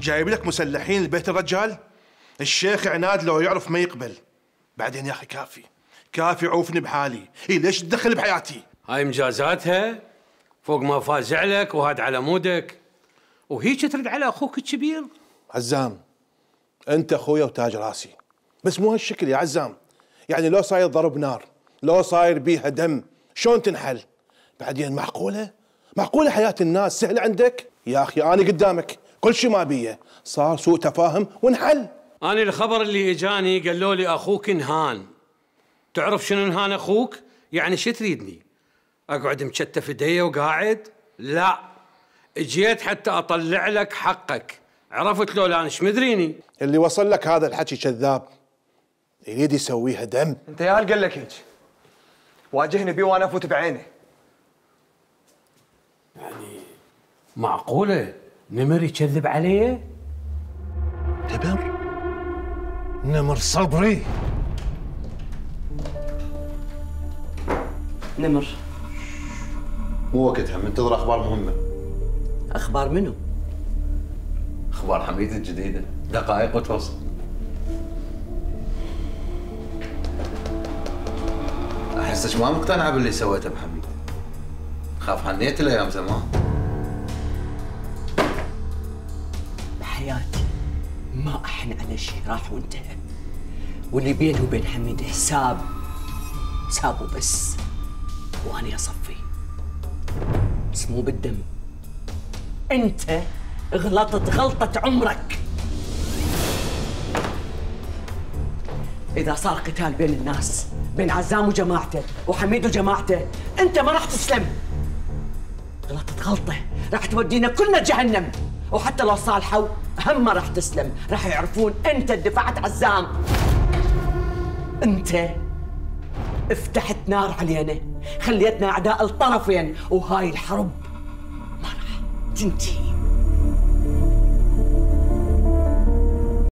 جايب لك مسلحين لبيت الرجال؟ الشيخ عناد لو يعرف ما يقبل. بعدين يا اخي كافي عوفني بحالي. ليش تدخل بحياتي؟ هاي مجازاتها فوق ما فازع لك وهاد على مودك، وهيك ترد على اخوك الكبير؟ عزام انت اخويا وتاج راسي، بس مو هالشكل يا عزام. يعني لو صاير ضرب نار، لو صاير بيها دم، شلون تنحل؟ بعدين معقولة حياة الناس سهلة عندك؟ يا اخي انا قدامك كل شيء ما بيه، صار سوء تفاهم وانحل. انا الخبر اللي اجاني قالوا لي اخوك انهان. تعرف شنو انهان اخوك؟ يعني شو تريدني؟ اقعد مكتف ايدي وقاعد؟ لا، اجيت حتى اطلع لك حقك. عرفت لو لا ايش مدريني؟ اللي وصل لك هذا الحكي كذاب، يريد يسويها دم. انت يا قال لك هيك، واجهني بيه وانا افوت بعينه. يعني معقولة نمر يكذب علي؟ نمر صبري. نمر مو وقتها، منتظر اخبار مهمه. اخبار منو؟ اخبار حميد الجديده، دقائق وتوصل. احسك ما مقتنعه باللي سويته بحميد. خاف حنيت الايام زمان. بحياتي ما احن على شيء راح وانتهى، واللي بيني وبين حميد حساب وبس، وانا اصفي، بس مو بالدم. انت غلطت غلطة عمرك. اذا صار قتال بين الناس، بين عزام وجماعته وحميد وجماعته، انت ما راح تسلم. غلطت غلطة راح تودينا كلنا جهنم، وحتى لو صالحوا هم ما راح تسلم، راح يعرفون انت دفعت عزام. انت افتحت نار علينا، خليتنا اعداء الطرفين، وهاي الحرب ما راح تنتهي.